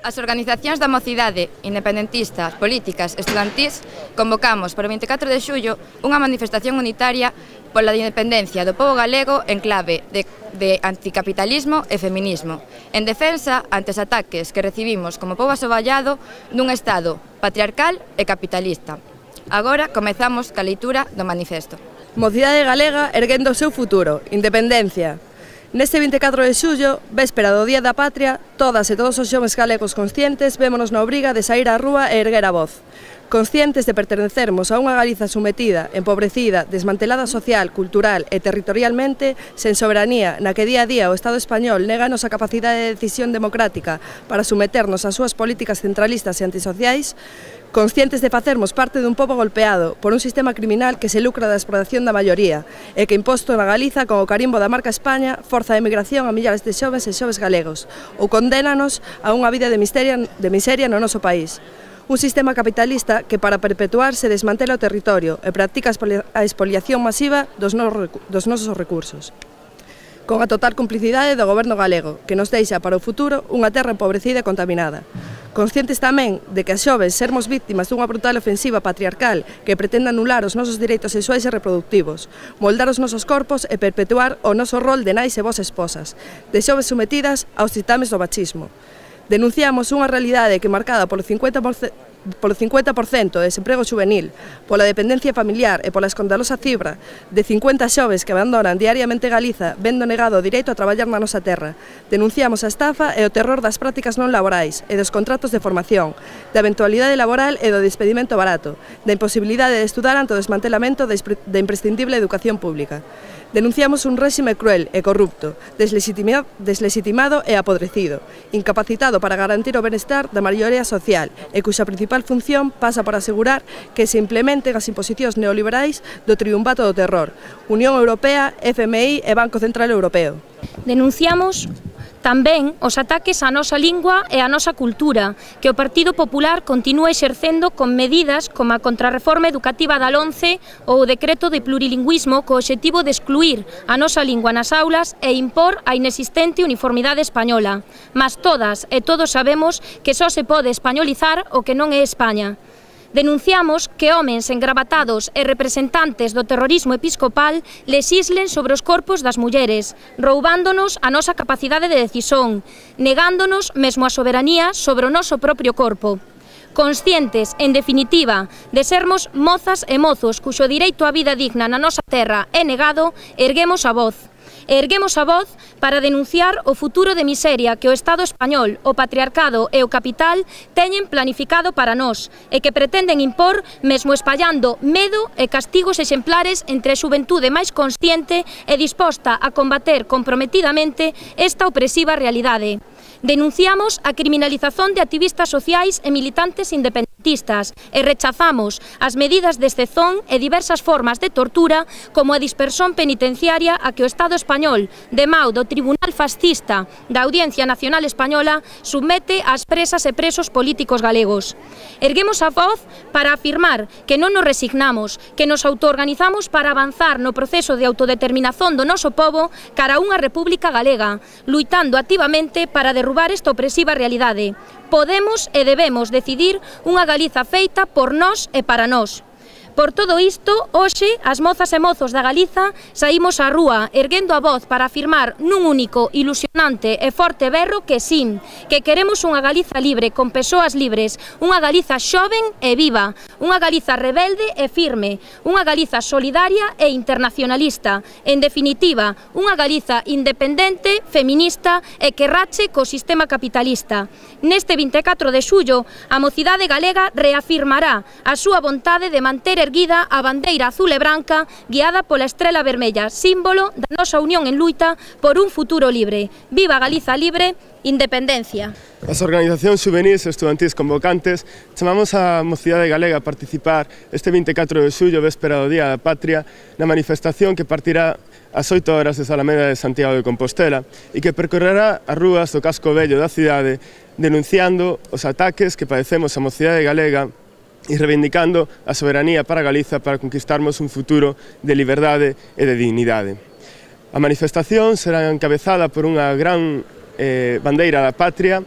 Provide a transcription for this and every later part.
As organizacións da mocidade, independentistas, políticas, estudantís, convocamos para o 24 de xullo unha manifestación unitaria pola independencia do pobo galego en clave de anticapitalismo e feminismo, en defensa ante os ataques que recibimos como pobo asoballado dun Estado patriarcal e capitalista. Agora comezamos ca leitura do manifesto. Mocidade galega erguendo o seu futuro, independencia. Neste 24 de xullo, véspera do Día da Patria, todas e todos os xoves galegos conscientes vémonos na obriga de saír á rúa e erguer a voz. Conscientes de pertenecermos a unha Galiza sometida, empobrecida, desmantelada social, cultural e territorialmente, sen soberanía, na que día a día o Estado español néganos a capacidade de decisión democrática para someternos ás súas políticas centralistas e antisociais, conscientes de facermos parte dun pobo golpeado por un sistema criminal que se lucra da explotación da maioría e que imposto na Galiza con o carimbo da marca España forza de emigración a millares de xoves e xoves galegos ou condénanos a unha vida de miseria no noso país. Un sistema capitalista que para perpetuar se desmantela o territorio e practica a expoliación masiva dos nosos recursos, con a total complicidade do goberno galego, que nos deixa para o futuro unha terra empobrecida e contaminada. Conscientes tamén de que as xoves sermos víctimas dunha brutal ofensiva patriarcal que pretende anular os nosos dereitos sexuais e reproductivos, moldar os nosos corpos e perpetuar o noso rol de nais e vós esposas, de xoves sometidas aos ditames do machismo. Denunciamos unha realidade que marcada polo 50% de desemprego juvenil, pola dependencia familiar e pola escandalosa cifra de 50 xoves que abandonan diariamente Galiza vendo negado o direito a traballar na nosa terra. Denunciamos a estafa e o terror das prácticas non laborais e dos contratos de formación, da eventualidade laboral e do despedimento barato, da imposibilidade de estudar ante o desmantelamento da imprescindible educación pública. Denunciamos un réxime cruel e corrupto, deslegitimado e apodrecido, incapacitado para garantir o benestar da maioría social e cuxa principal función pasa por asegurar que se implementen as imposicións neoliberais do triunvato do terror, Unión Europea, FMI e Banco Central Europeo. Denunciamos tamén os ataques á nosa lingua e á nosa cultura, que o Partido Popular continúa exercendo con medidas como a contrarreforma educativa da LOMCE ou o decreto de plurilingüismo co obxectivo de excluir a nosa lingua nas aulas e impor a inexistente uniformidade española. Mas todas e todos sabemos que só se pode españolizar o que non é España. Denunciamos que homens engravatados e representantes do terrorismo episcopal lexislen sobre os corpos das mulleres, roubándonos a nosa capacidade de decisión, negándonos mesmo a soberanía sobre o noso propio corpo. Conscientes, en definitiva, de sermos mozas e mozos cuxo direito á vida digna na nosa terra é negado, erguemos a voz. Erguemos a voz para denunciar o futuro de miseria que o Estado español, o patriarcado e o capital teñen planificado para nós e que pretenden impor mesmo espallando medo e castigos exemplares entre a xuventude máis consciente e disposta a combater comprometidamente esta opresiva realidade. Denunciamos a criminalización de activistas sociais e militantes independentistas e rechazamos as medidas de excepción e diversas formas de tortura como a dispersión penitenciaria a que o Estado español, de mau do Tribunal Fascista da Audiencia Nacional Española, submete ás presas e presos políticos galegos. Erguemos a voz para afirmar que non nos resignamos, que nos autoorganizamos para avanzar no proceso de autodeterminación do noso pobo cara a unha república galega, luitando activamente para derrubar esta opresiva realidade. Podemos e debemos decidir unha Galiza feita por nós e para nós. Por todo isto, hoxe, as mozas e mozos da Galiza saímos á rúa erguendo a voz para afirmar nun único, ilusionante e forte berro que sí, que queremos unha Galiza libre, con persoas libres, unha Galiza xoven e viva, unha Galiza rebelde e firme, unha Galiza solidaria e internacionalista, en definitiva, unha Galiza independente, feminista e que rache co sistema capitalista. Neste 24 de xullo, a mocidade galega reafirmará a súa vontade de manter erguida a bandeira azul e branca guiada pola estrela vermella, símbolo da nosa unión en luita por un futuro libre. Viva Galiza libre, independencia. As organizacións juvenís e estudantís convocantes chamamos a mocidade galega a participar este 24 de xullo, véspera do Día da Patria, na manifestación que partirá ás 8 horas de Alameda de Santiago de Compostela e que percorrerá as rúas do casco vello da cidade denunciando os ataques que padecemos a mocidade galega e reivindicando a soberanía para Galiza para conquistarmos un futuro de liberdade e de dignidade. A manifestación será encabezada por unha gran bandeira da patria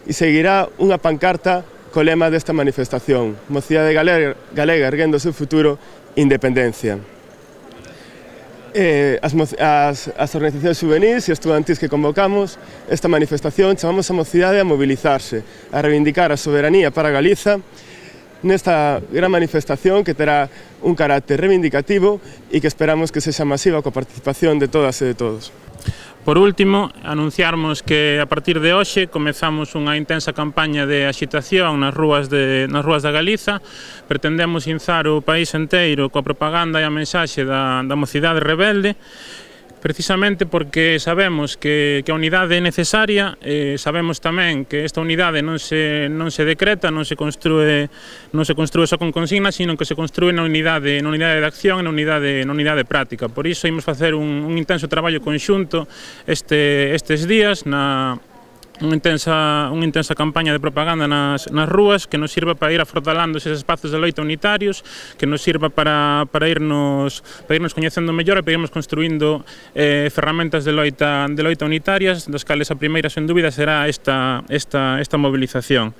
e seguirá unha pancarta co lema desta manifestación: Mocidade Galega erguendo o seu futuro, independencia. As organizacións juvenis e estudantis que convocamos esta manifestación chamamos a mocidade a mobilizarse, a reivindicar a soberanía para Galiza nesta gran manifestación que terá un carácter reivindicativo e que esperamos que sexa masiva coa participación de todas e de todos. Por último, anunciarmos que a partir de hoxe comezamos unha intensa campaña de axitación nas rúas da Galiza. Pretendemos inzar o país enteiro coa propaganda e a mensaxe da mocidade rebelde, precisamente porque sabemos que a unidade é necesaria, sabemos tamén que esta unidade non se decreta, non se construe só con consignas, sino que se construe na unidade de acción e na unidade práctica. Por iso imos facer un intenso traballo conxunto estes días unha intensa campaña de propaganda nas rúas que nos sirva para ir afrodalando eses espazos de loita unitarios, que nos sirva para irnos coñecendo mellor e para irnos construindo ferramentas de loita unitarias, das cales a primeira, sen dúbida, será esta movilización.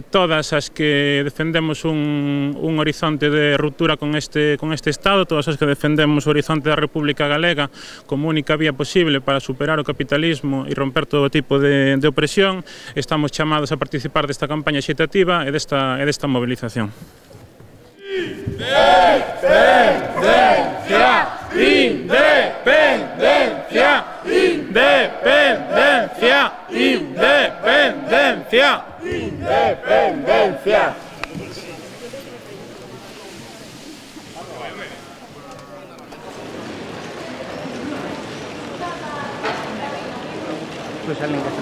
Todas as que defendemos un horizonte de ruptura con este Estado, todas as que defendemos o horizonte da República Galega como única vía posible para superar o capitalismo e romper todo tipo de opresión, estamos chamados a participar desta campaña axitativa e desta movilización. Independencia! Independencia! Independencia! Independencia! Independencia! Pues alguien que se